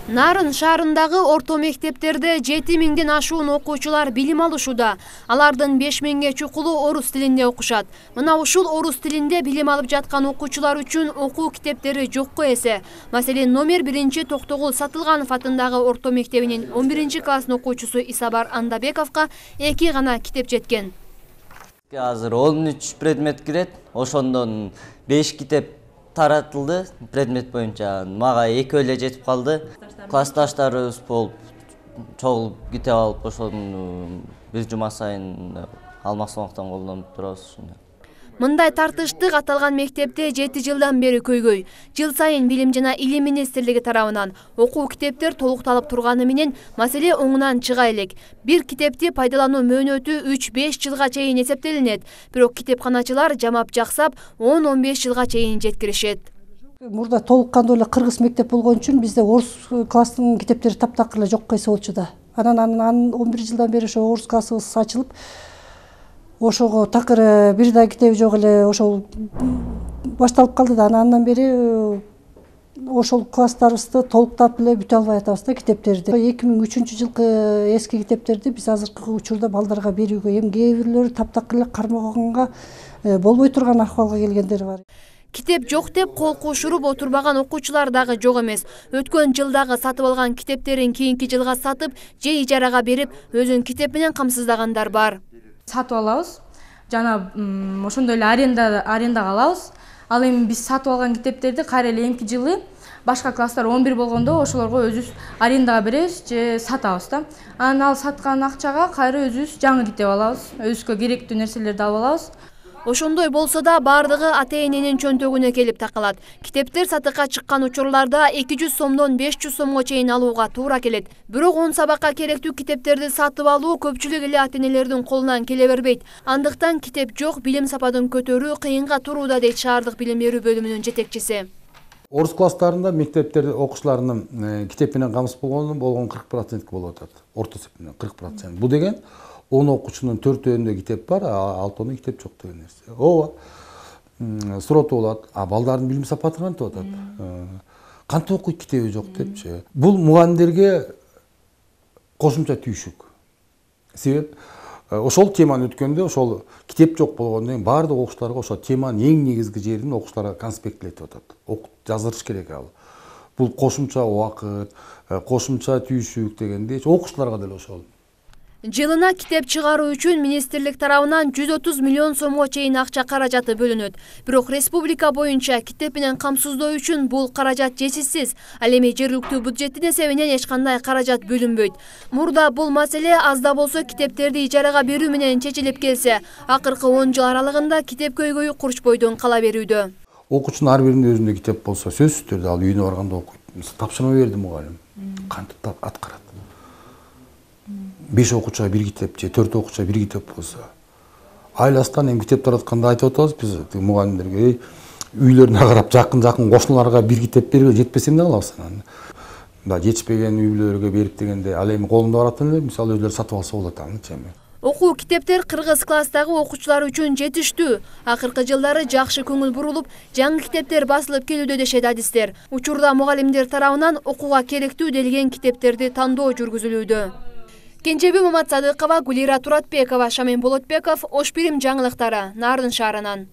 Нарын шаарындагы орто мектептерде 7000ден ашуун окуучулар билим алышууда. Алардын 5000ге чукулу орус тилинде окушат. Мына ушул орус тилинде билим алып жаткан окуучулар үчүн окуу китептери жокко эсе. Маселен, номер 1 Токтогул Сатылганов атындагы орто мектебинин 11 класс окуучусу Исабар Андабековго 2 гана китеп жеткен. Азыр 13 предмет кирет, ошондон 5 китеп таратылды предмет боюнча. Мага 2 эле жетип калды. Классташтарыбыз болуп чогул китеп алып ошону бир жума сайын алмаксымактан колдонуп турабыз. Мындай тартыштык аталган мектепте 7 жылдан бери көйгөй. Жыл сайын Билим жана Илим министрлиги тарабынан окуу китептер толукталып турганы менен маселе оңунан чыга элек. Бир китепти пайдалануу мөөнөтү 3-5 жылга чейин эсептелинет. Бирок китепканачылар жамап жаксап 10-15 жылга чейин жеткиришет. Мурда толук кандуу эле кыргыз мектеп болгон үчүн бизде орус класстын китептери таптакыр эле жокко эсе болчу да. Анан 11 жылдан бери ошо орус классыбыз ачылып, ошого такыр бир да китеби жок эле ошол башталып калды да. Андан бери ошол класстарыбызды толуктап эле бүтө албай атабыз да китептерди. 2003-жылкы эски китептерди биз азыркы учурда балдарга берүүгө, эми кээ бирлери таптакыр эле кармаганга болбой турган акыбалга келгендери бар. Китеп жок деп кол кушуруп отурбаган окуучулар дагы жок эмес. Өткөн жылдагы сатып алган китептерин кийинки жылга сатып, же ижарага берип, өзүн китеп менен камсыздагандар бар. Сатып алабыз, жана ошондой эле арендага алабыз. Ал эми биз сатып алган китептерди кайра эле эмки жылы башка класстар 11 болгондо ошолорго өзүбүз арендага беребиз же сатабыз да. Анан ал саткан акчага кайра өзүбүз жаңы китеп алабыз, өзүбүзгө керектүү нерселерди алып алабыз. Ошондой болсо да бардыгы ата-эненин чөнтөгүнө келип такалат. Китептер сатыкка чыккан учурларда 200 сомдон 500 сомго чейин алууга туура келет. Бирок 10 сабакка керектүү китептерди сатып алуу көпчүлүк эле ата-энелердин колунан келе бербейт. Андыктан китеп жок, билим сапатын көтөрүү кыйынга турууда, дейт шаардык билим берүү бөлүмүнүн жетекчиси. Орус класстарында мектептерде окуучулардын китеп менен камсыз болгон 40% болуп атат. Орто эсеп менен 40%. Бул деген 10 окуучунун 4-өндө китеп бар, 6-ында китеп жок деген нерсе. Ооба. Суроо болот. Балдардын билим сапаты кантип атат? Кантип окуйт, китеби жок депчи. Бул мугалимдерге кошумча түйшүк. Себеп ошол теманы өткөндө ошол китеп жок болгондон кийин баардык окуучуларга ошол теманын эң негизги жерин окуучуларга конспектлетип атат. Жаздырыш керек ал. Бул кошумча убакыт, кошумча түйшүк дегенде окуучуларга деле ошол. Жылына китеп чыгаруу үчүн министрлик тарабынан 130 миллион сомго чейин акча каражаты бөлүнөт. Бирок республика боюнча китеп менен камсыздоо үчүн бул каражат жетишсиз. Ал эми жергиликтүү бюджеттин эсебинен эч кандай каражат бөлүнбөйт. Мурда бул маселе аз да болсо китептерди ижарага берүү менен чечилип келсе, акыркы 10 жыл аралыгында китеп көйгөйү Курчбойдон кала берүүдө. Окуучунун ар биринин өзүндө китеп болсо, сөзсүз түрдө ал үйүнө барганда окуйт. Тапшырма берди мугалим. Кантип аткарат? 5 окуучуга 1 китеп же 4 окуучуга 1 китеп болсо, айласынан эми китеп таратканда айтып атабыз биз мугалимдерге, үйлөрүнө карап жакын кошуналарга 1 китеп берип жетпесе эмне кылабыз анан? Мында жетишпеген үй бүлөлөргө берип дегенде ал эми колунда баратын эле, мисалы өзүлөрү сатып алса болот анычы эми. Окуу китептер кыргыз класстагы окуучулар үчүн жетиштүү. Акыркы жылдары жакшы көңүл бурулуп, жаңы китептер басылып келүүдө дешет адистер. Учурда мугалимдер тарабынан окууга керектүү делген китептерди тандоо жүргүзүлүүдө. Кенжеби Маматсадыкова, Гулира Туратбекова, Шамин Болотбеков, Ош Бирим жаңылыктары, Нарын шаарынан.